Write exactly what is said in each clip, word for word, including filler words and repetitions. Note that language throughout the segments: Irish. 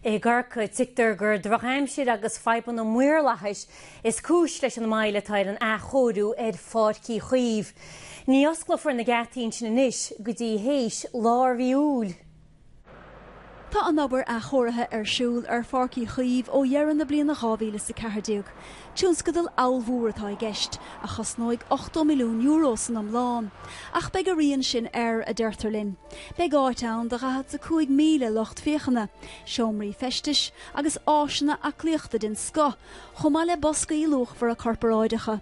I gCorcaigh, tuigtear gur drochaimsir agus fadhbanna maorlathais is cúis leis an moill atá ar an athchóiriú ar Pháirc Uí Chaoimh. Ní osclófar na geataí sin anois go dtí théis lár mhí Iúil. Tá an obair athchóirithe ar siúl ar Pháirc Uí Chaoimh ó dheireadh na bliana dhá mhíle is a ceathair déag. Tionscadal ollmhór atá i gceist, a chosnóidh ochtó milliún euro san iomlán. Ach beidh a rian sin air, a deirtear linn. Beidh áit ann do dhaichead a cúig míle lucht féachana, seomraí feistis agus áiseanna aclaíochta den scoth, chomh maith le boscaí luachmhara corparáideacha.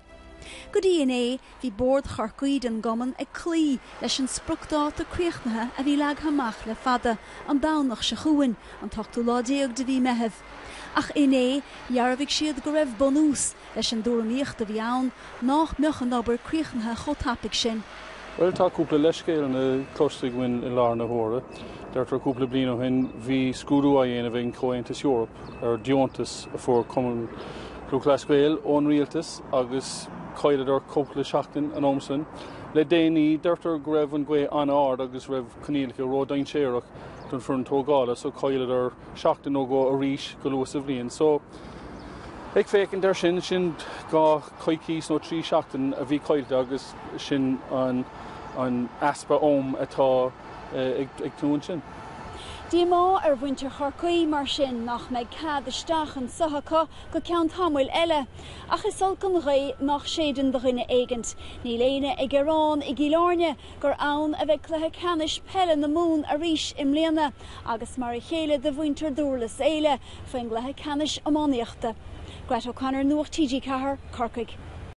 Go dtí inné, bhí Bord Chorcaí den gcumann ag cloí leis an spriocdháta críochnaithe a bhí leagtha amach le fada, an Domhnach seo chugainn, an t-ochtú lá déag de mhí Meitheamh. Ach inné, dhearbhaigh siad go raibh bunús leis an dtuairimíocht a bhí ann nach mbeadh an obair críochnaithe chomh tapaidh sin. Bhuel, tá cúpla leithscéal cloiste againn i láthair na huaire. Deirtear cúpla bliain ó shin bhí scrúdú á dhéanamh ag an Comhaontas Eorpach ar deontas a fuair Cumann Lúthchleas Gael ón rialtas agus chailleadar cúpla seachtain an am sin. Le déanaí deirtear go raibh an ghaoth an-ard agus raibh coinníollacha ródhainséarach don fhoireann tógála, so chailleadar seachtain nó dhó arís go luath sa bhliain. So ag féachaint air sin sin dhá choicís nó trí seachtain a bhí caillte agus sin an an easpa am atá ag ag tú sin. Díomá ar mhuintir Chorcaí mar sin nach mbeidh cead isteach anseo acu go ceann tamaill eile, ach is olc an ghaoth nach séideann do dhuine éigint. Níl éinne ag gearán i gCill Airne gur ann a bheidh cluiche ceannais peile na Mumhan arís i mbliana, agus mar a chéile do mhuintir Dhurlas Éile faoin gcluiche ceannais iománaíochta. Greta O'Connor, Nuacht TG Ceathair, Corcaigh.